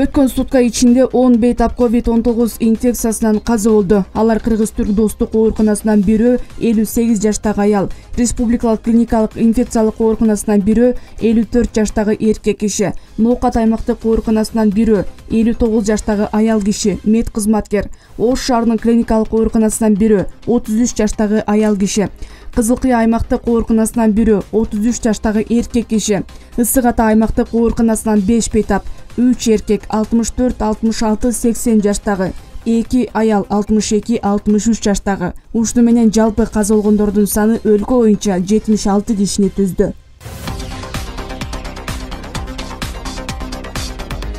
Өткөн сутка ичинде 10 бейтап COVID-19 инфекциясынан каза болду. Алар Кыргыз-Түрк достук ооруканасынан бирөө 58 жаштагы аял, Республикалык клиникалык инфекциялык ооруканасынан бирөө 54 жаштагы эркек киши, Ноокат аймактык ооруканасынан бирөө 59 жаштагы аял киши, мед кызматкер, Ош шаарынын клиникалык ооруканасынан бирөө 33 жаштагы аял киши, Кызыл Кыя аймактык ооруканасынан бирөө 33 жаштагы эркек киши, Ысык Ата аймактык ооруканасынан 5 бейтап, 3 эркек 64, 66, 80 жаштагы, 2 аял 62, 63 жаштагы. Ушуну менен жалпы каза болгондордун саны өлкө боюнча 76 кишини түздү.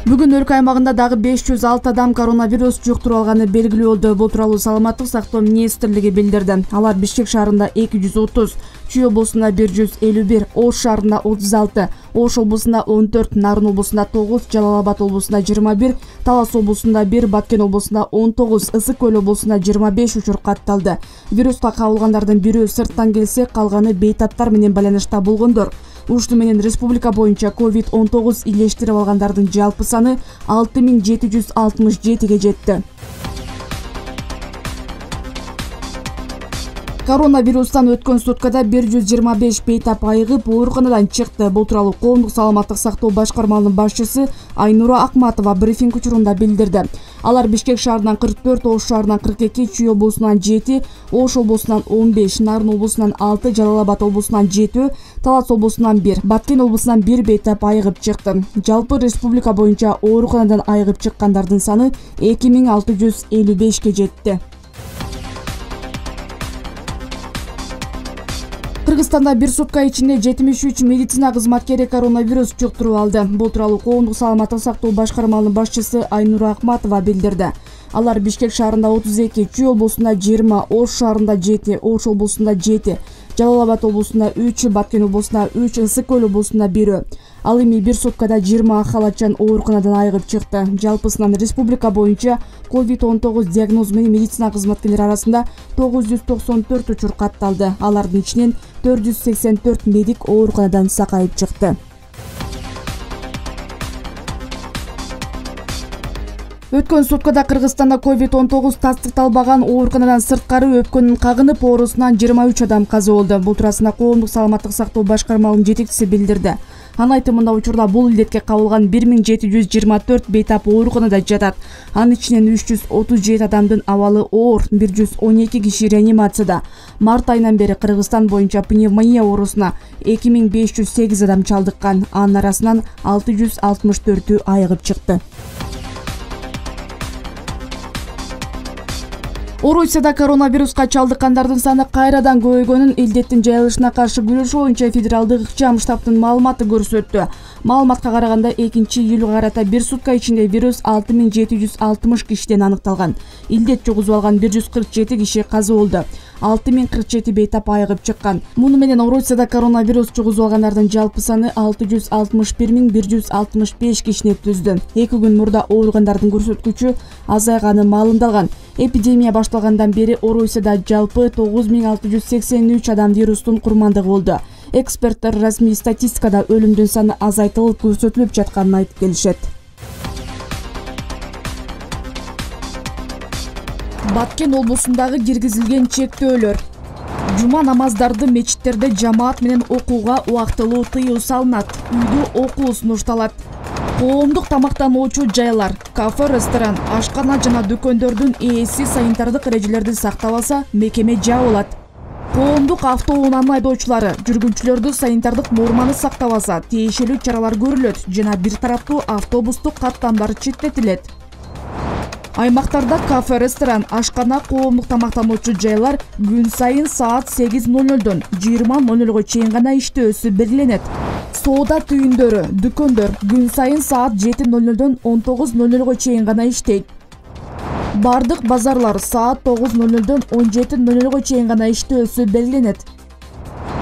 Бүгүн өлкө аймагында дагы 506 адам коронавирус жуктуруп алганы белгилүү болду. Бул тууралуу Саламаттык сактоо министрлиги билдирди. Алар Бишкек шаарында 230, Чүй облусунда 151, Ош шаарында 36, Ош облусунда 14, Нарын облусунда 9, Жалал Абад облусунда 21, Талас облусунда 1, Баткен облусунда 19, Ысык Көл облусунда 25 учур катталды. Вируска кабылгандардын бирөө сырттан келсе, калганы бейтаптар менен байланышта болгондор. Ушуну менен республика боюнча COVID-19 илештирип алгандардын жалпы саны 6767 жетти. Коронавирустан өткөн суткада 125 бейтап айыгып ооруканадан чыкты. Бул тууралуу Коомдук саламаттык сактоо башкармалынын башчысы Айнура Акматова брифинг учурунда билдирди. Алар Бишкек шаарынан 44, Ош шаарынан 42, Чүй облусунан 7, Ош облусунан 15, Нарын облусунан 6, Жалал Абад облусунан 7, Талас облусунан 1, Баткен облусунан 1 бейтап айыгып чыкты. Жалпы республика боюнча ооруканадан айыгып чыккандардын саны 2655 жетти. Кыргызстанда бир сутка ичинде 73 медицина кызматкери коронавирус жуктуруп алды. Бул тууралуу Коомдук саламаттык сактоо башкармалынын башчысы Айнура Акматова билдирди. Алар Бишкек шаарында 32, Чүй облусунда 20, Ош шаарында 7, Ош облусунда 7, Жалал Абад облусунда 3, Баткен облусунда 3, Ысык Көл облусунда 1. Ал эми бир суткада 20 халатчан ооруканадан айыгып чыкты. Жалпысынан республика боюнча COVID-19 диагнозу менен медицина кызматкерлери арасында 994 учур катталды. Алардын ичинен 484 медик ооруканадан сакайып чыкты. Өткөн суткада Кыргызстанда COVID-19 тастыкталбаган ооруканадан сырткары өпкөнүн кагынып оорусунан 23 адам каза болду. Бул туурасында Коомдук саламаттык сактоо башкармалынын жетекчиси билдирди. Анын айтымында учурда бул илдетке кабылган 1724 бейтап ооруканада жатат. Анын ичинен 337 адамдын абалы оор, 112 киши реанимацияда. Март айынан бери Кыргызстан боюнча пневмония оорусуна 2508 адам чалдыккан. Анын арасынан 664 айыгып чыкты. Орусияда коронавируска чалдыккандардын саны кайрадан көбөйгөнүн илдеттин жайылышына каршы күрөшүү боюнча федералдык ыкчам штабтын маалыматы көрсөттү. Маалыматка караганда 2-июлга карата бир сутка ичинде вирус 6760 кишиден аныкталган. Илдет жугузуп алган 147 киши каза болду. 6047 бейтап айыгып чыккан. Муну менен Орусияда коронавирус жугузуп алгандардын жалпы саны 661165 кишини түздү. 2 күн мурда ооругандардын көрсөткүчү азайганы маалымдалган. Эпидемия башталгандан бери Орусияда жалпы 9683 адам вирустун курмандыгы болду. Эксперттер расмий статистикада өлүмдүн саны азайтылып көрсөтүлүп жатканын айтып келишет. Баткен облусундагы киргизилген чектөөлөр. Жума намаздарды мечиттерде жамаат менен окууга убактылуу тыюу салынат. Үйдө окуу сунушталат. Коомдук тамактануучу жайлар, кафе, ресторан, ашкана жана дүкөндөрдүн ээси санитардык эрежелерди сактабаса, мекеме жабылат. Коомдук автоунаанын айдоочулары жүргүнчүлөрдү санитардык норманы сактабаса, тиешелүү чаралар көрүлөт жана бир тараптуу автобустук каттамдар чектетилет. Аймактарда кафе, ресторан, ашкана, коомдук тамактануучу жайлар күн сайын саат 8:00дон 20:00 чейин гана иштөөсү белгиленет. Соода түйүндөрү, дүкөндөр күн сайын саат 7:00дон 19:00 чейин гана иштейт. Бардык базарлар саат 9:00дон 17:00 чейин гана иштөөсү белгиленет.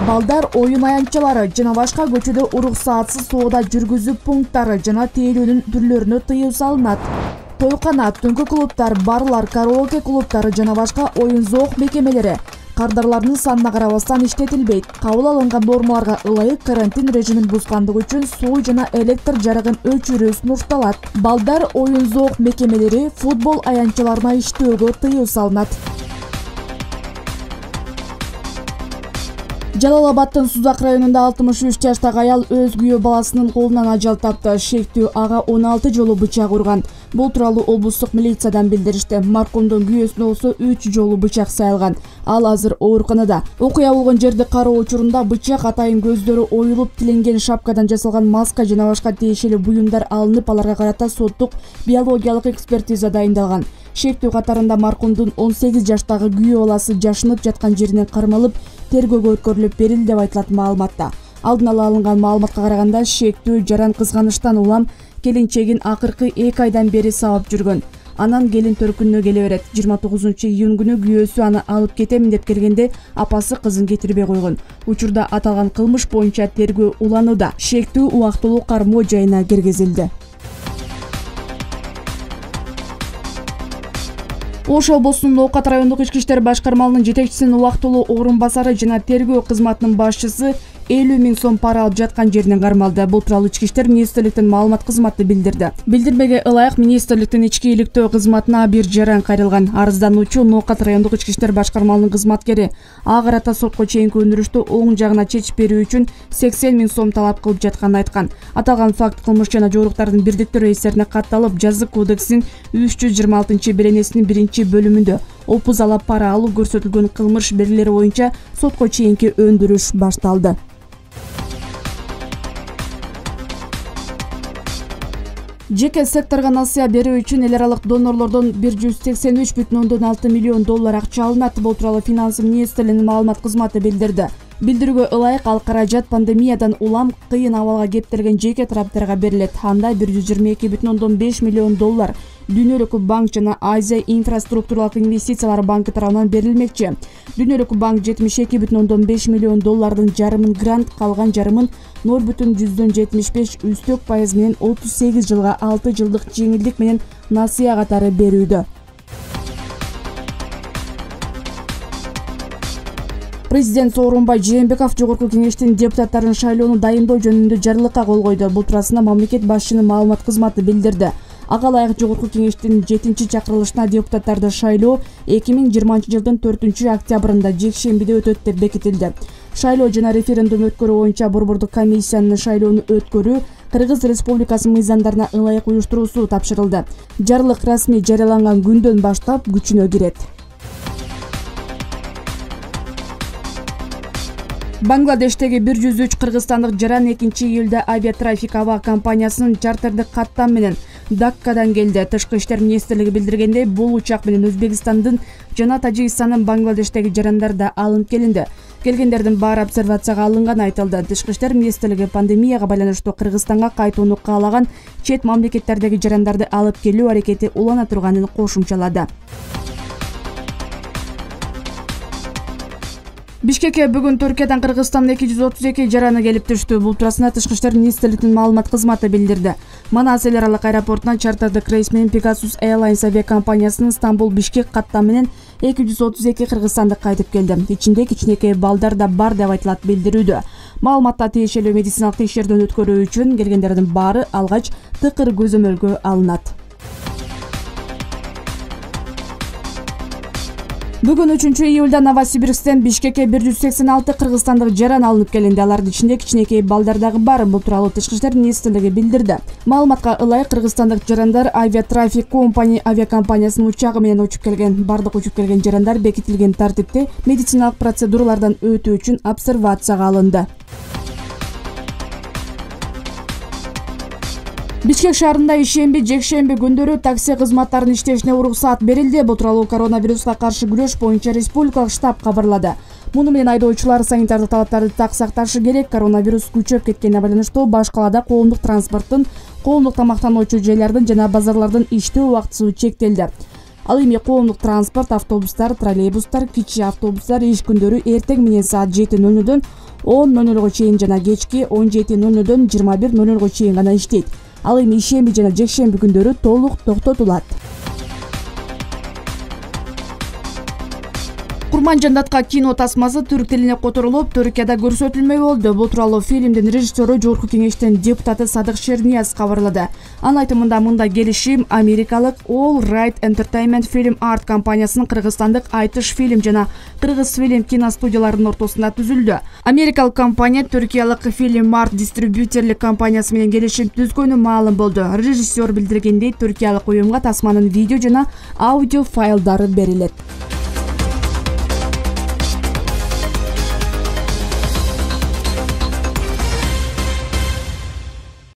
Балдар оюн аянтчалары жана башка көчөдө уруксаатсыз соода жүргүзүү пункттары жана тейлөөнүн түрлөрүнө тыюу салынат. Тойкана, түнкү клубтар, барлар, караоке клубтары жана башка оюн зоок мекемелери кардарлардын санына карабастан иштетилбейт. Кабыл алынган нормаларга ылайык карантин режимин бузгандыгы үчүн суу жана электр жарыгын өчүрүү сунушталат. Балдар оюн-зоок мекемелери, футбол аянтчаларына иштөөгө тыюу салынат. Жалал Абадтын Сузак районунда 63 жаштагы аял өз күйөө баласынын колунан ажал тапты. Шектүү ага 16 жолу бычак урган. Бул тууралуу облустук милициядан билдиришти. Маркумдун күйөөсүнө болсо 3 жолу бычак сайылган. Ал азыр ооруканада. Окуя болгон жерди кароо учурунда бычак, атайын көздөрү оюлуп, тиленген шапкадан жасалган маска жана башка тиешелүү буюмдар алынып, аларга карата соттук биологиялык экспертиза дайындалган. Шектүү катарында маркумдун 18 жаштагы күйөө баласы жашынып жаткан жеринен кармалып, тергөөгө өткөрүлүп берилди деп айтылат маалыматта. Алдын ала алынган маалыматка караганда, шектүү жаран кызганыштан улам келинчегин акыркы 2 айдан бери сабап жүргөн. Анан келин төркүнүнө келе берет. 29-июнь күнү күйөөсү аны алып кетемин деп келгенде апасы кызын кетирбей койгон. Учурда аталган кылмыш боюнча тергөө уланууда. Шектүү убактылуу кармоо жайына киргизилди. Ош облусунун Оокат райондук ички иштер башкармалынын жетекчисинин убактылуу орун басары жана тергөө кызматынын башчысы 50 000 сом пара алып жаткан жеринен кармалды. Бул тууралуу ички иштер министрликтин маалымат кызматы билдирди. Билдирмеге ылайык министрликтин ички иликтөө кызматына бир жаран кайрылган. Арыздануучу Оокат райондук ички иштер башкармалынын кызматкери. Ага карата сотко чейинки өндүрүштү оң жагына чечип берүү үчүн 80 000 сом талап кылып жатканын айткан. Аталган факт кылмыш жана жоруктардын бирдиктүү реестерине катталып, жазык кодексинин 326-беренесинин 1-бөлүмүндө опуз алап пара алуу көрсөтүлгөн кылмыш белгилери боюнча сотко чейинки өндүрүш башталды. Жеке секторго насыя берүү үчүн эл аралык донорлордон 183,6 миллион доллар акча алынат. Бул тууралуу Финансы министрлигинин маалымат кызматы билдирди. Билдирүүгө ылайык ал каражат пандемиядан улам кыйын абалга кептелген жеке тараптарга берилет. Анда 122,5 миллион доллар Дүйнөлүк банк жана Азия инфраструктуралык инвестициялар банкы тарабынан берилмекчи. Дүйнөлүк банк 72,5 миллион доллардын жарымын грант, калган жарымын 0,75 үстөк пайыз менен 38 жылга 6 жылдык жеңилдик менен насыя катары берүүдө. Президент Сооронбай Жээнбеков Жогорку Кеңештин депутаттарын шайлоону дайындоо жөнүндө жарлыкка кол койду. Бул туурасында мамлекет башчынын маалымат кызматы билдирди. Ага ылайык Жогорку Кеңештин 7-чакырылышына депутаттарды шайлоо 2020 жылдын 4-октябрында жекшембиде өтөт деп бекитилди. Шайлоо жана референдум өткөрүү боюнча борбордук комиссиянын шайлоону өткөрүү Кыргыз Республикасы мыйзамдарына ылайык уюштуруусу тапшырылды. Жарлык расмий жарыяланган күндөн баштап күчүнө кирет. Бангладештеги 103 кыргызстандык жаран 2-июлда авиатрафик аба компаниясынын чартердик каттам менен Даккадан келди. Тышкы иштер министрлиги билдиргендей, бул учак менен Өзбекстандын жана Тажикстандын Бангладештеги жарандар да алынып келинди. Келгендердин баары обсервацияга алынганы айтылды. Тышкы иштер министрлиги пандемияга байланыштуу Кыргызстанга кайтууну каалаган чет мамлекеттердеги жарандарды алып келүү аракети улана турганын кошумчалады. Бишкекке бүгүн Түркиядан Кыргызстандын 232 жараны келип түштү. Бул туурасында Тышкы иштер министрлигинин маалымат кызматы билдирди. Манас эл аралык аэропортунан чартердик рейс менен Pegasus Airlines авиакомпаниясынын Стамбул-Бишкек каттамы менен 232 кыргызстандык кайтып келди. Ичинде кичинекей балдар да бар деп айтылат билдирүүдө. Маалыматта тиешелүү медициналык текшерүүдөн өткөрүү үчүн келгендердин баары алгач тыкыр көзөмөлгө алынат. Бүгүн 3-июлда Новосибирсктен Бишкекке 186 кыргызстандык жаран алынып келинди. Алардын ичинде кичинекей балдар дагы бар. Бул тууралуу Тышкы иштер министрлиги билдирди. Маалыматка ылайык кыргызстандык жарандар Авиатрафик Company авиакомпаниясынын учагы менен учуп келген. Бардык учуп келген жарандар бекитилген тартипте медициналык процедуралардан өтүү үчүн обсервацияга алынды. Бишкек шаарында ишемби, жекшемби күндөрү такси кызматтарынын иштешине уруксаат берилди. Бул тууралуу коронавируска каршы күрөш боюнча республикалык штаб кабарлады. Муну менен айдоочулар санитардык талаптарды так сакташы керек. Коронавирус күчөп кеткенине байланыштуу баш калаада коомдук транспорттун, коомдук тамактануучу жайлардын жана базарлардын иштөө убактысы чектелди. Ал эми коомдук транспорт, автобустар, троллейбустар, кичи автобустар иш күндөрү эртең менен саат 7:00-дөн 10:00 чейин жана кечки 17:00-дөн 21:00 чейин гана иштейт. Ал эми ишемби жана жекшемби күндөрү толук токтотулат. Курман Жандатка кино тасмасы түрк тилине которулуп, Түркияда көрсөтүлмөй болду. Бул тууралуу фильмдин режиссеру Жогорку Кеңештин депутаты Садык Шернияз кабарлады. Анын айтымында мындай келишим америкалык All Right Entertainment Film Art компаниясынын кыргызстандык Айтыш фильм жана Кыргыз фильм киностудияларынын ортосунда түзүлдү. Америкалык компания Түркиялык Film Art дистрибьютерлик компаниясы менен келишим түзгөнү маалым болду. Режиссер билдиргендей, түркиялык уюмга тасманын видео жана аудио файлдары берилет.